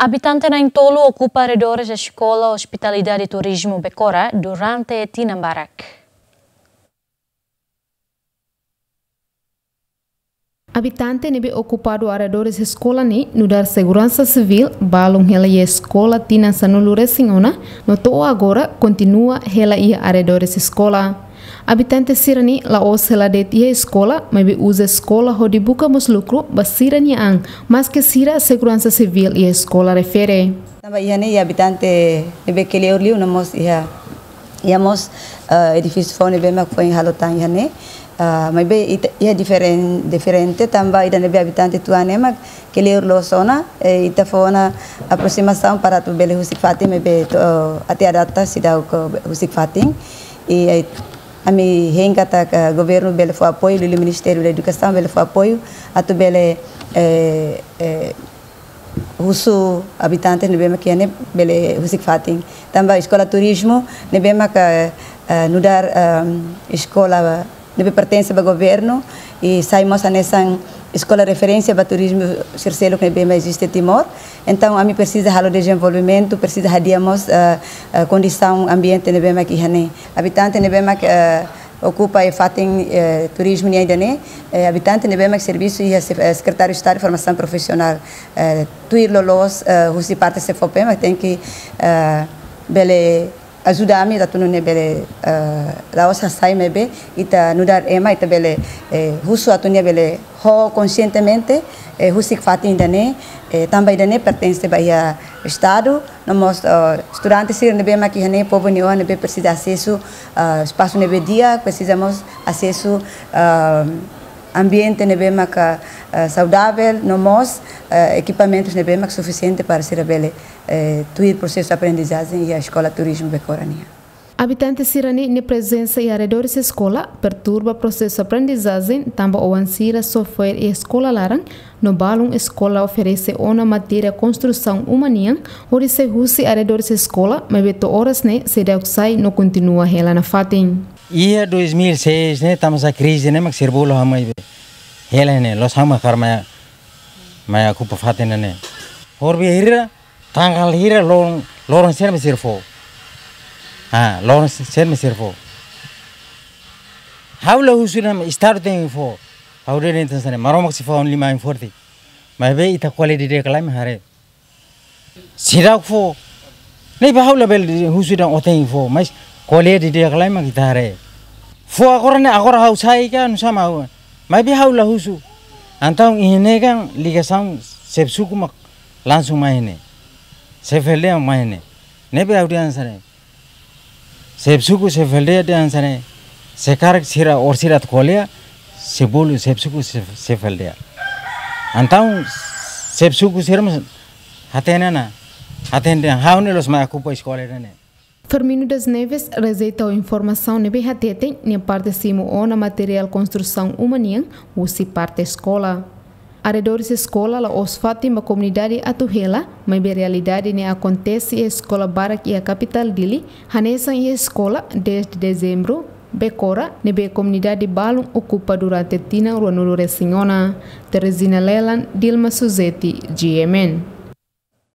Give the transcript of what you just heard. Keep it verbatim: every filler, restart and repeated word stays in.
Abitante na'in-tolu okupa arredores eskola Ospitalidade Turizmu Becora durante tinan barak. Abitante ne'ebé okupa arredores eskola ne'e nu'udar seguransa sivíl balun hela iha eskola tinan sanulu-resin-ona, no to'o agora kontinua hela iha arredores eskola. Abitante sira-ne'e la'ós hela de'it iha eskola, maibé uza eskola hodi buka mós lukru ba sira-nia an, maske sira seguransa sivíl iha eskola refere. Tanba iha ne'e iha abitante ne'ebé kleur liu, no mós iha, iha mós, eh, edifísiu foun ne'ebé mak foin halo tan iha ne'e. Ah, maibé ita, iha diferen-, diferente tanba ida ne'ebé abitante tuan ne'e mak kleur loos ona, eh, ita fó ona aproximasaun para atu bele husik fatin, maibé to'o, eh, até à data seidauk husik fatin. I, eh, ami hein katak governu bele fó apoiu, liuliu Ministériu da Edukasaun bele fó apoiu atu bele, eh, eh, husu abitante ne'ebé mak iha ne'e bele husik fatin. Tanba eskola turizmu ne'ebé mak, eh, nu'udar, ehm, eskola ne'ebé pertense ba governu, i sai mós hanesan eskola referénsia ba turizmu sira seluk ne'ebé mak eziste Timor. Entaun, ami presiza halo dezenvolvimentu, presiza hadi'a mós, eh, eh, kondisaun ambiente ne'ebé mak iha ne'e. Abitante ne'ebé mak, eh, okupa iha fatin, eh, turizmu nian ida-ne'e, eh, abitante ne'ebé mak servisu iha sef-, eh, Sekretáriu Estadu Formasaun Profisionál, eh, tuir loloos, eh, husi parte SEFOPE mak tenke, eh, bele ajuda ami atu nune'e bele, eh, la'ós hasai maibé ita nu'udar ema ita bele, eh, husu atu nia bele ho konsientemente, eh, husik fatin ida-ne'e, eh, tanba ida-ne'e pertense ba iha Estadu, no mós, eh, estudante sira ne'ebé mak iha ne'e, povu nia oan ne'ebé presiza asesu, eh, espasu ne'ebé di'ak, presiza mós asesu, eh, ambiente ne'ebé mak, eh, saudavel, no mós, eh, ekipamentus ne'ebé mak sufisiente para sira bele, eh, tuir prosesu aprendizajen iha eskola turizmu Becora nian. Abitante sira-ne'e nia prezensa iha arredores eskola perturba prosesu aprendizajen, tanba oan sira só fo'er iha eskola laran, no balun eskola oferese ona matéria konstrusaun uma nian, hodi sai husi arredores eskola, maibé to'o oras ne'e seidauk sai no kontinua hela nafatin. Iha dois mil e seis ne'e, tama sa krize ne'e mak sira bolu ha'u mai be. Hela ne'e, loos ha'u mak hakarak mai, mai okupa fatin ne'e. Hori be hira, tanggal hira loron, loron sira mak sira fó. Ah, loron sira mak sira fó. Ha'u la husu dehan Estadu tenke fó. Ha'u dehan tan sane, Maromak sei fó liman forte. Maibé ita ko'alia didi'ak lai mak haree. Seidauk fó. Ne'ebé ha'u labele husu dehan ó tenke fó, mas ko'alia didi'ak lai mak ita haree. Fó agora ne'e, agora ha'u sai ka, nusá mak ha'u. Maibé ha'u la husu. Entaun iha ne'e kan ligasaun xefe suku mak langsung mai ne'e. Xefe aldeia mai ne'e. Ne'ebé ha'u dehan sane. Xefe suku, xefe aldeia dehan sane. Se karik sira, orsida atu ko'alia, sei bolu xefe suku, xefe, xefe aldeia. Entaun xefe suku sira mós hatene ona, hatene dehan ha'u ne'e loos mai okupa eskola ne'e. Firmino das Neves rejeita informasaun ne'ebé hateten nia parte simu ona materiál konstrusaun uma nian husi parte eskola. Arredores eskola la'ós fatin ba komunidade atu hela, maibé realidade ne'e akontese iha eskola barak iha kapitál Dili, hanesan iha eskola dez de Dezembru, Becora, ne'ebé komunidade balun okupa durante tinan ruanulu-resin-ona. Teresina Lelan, Dilma Suzeti, G M N.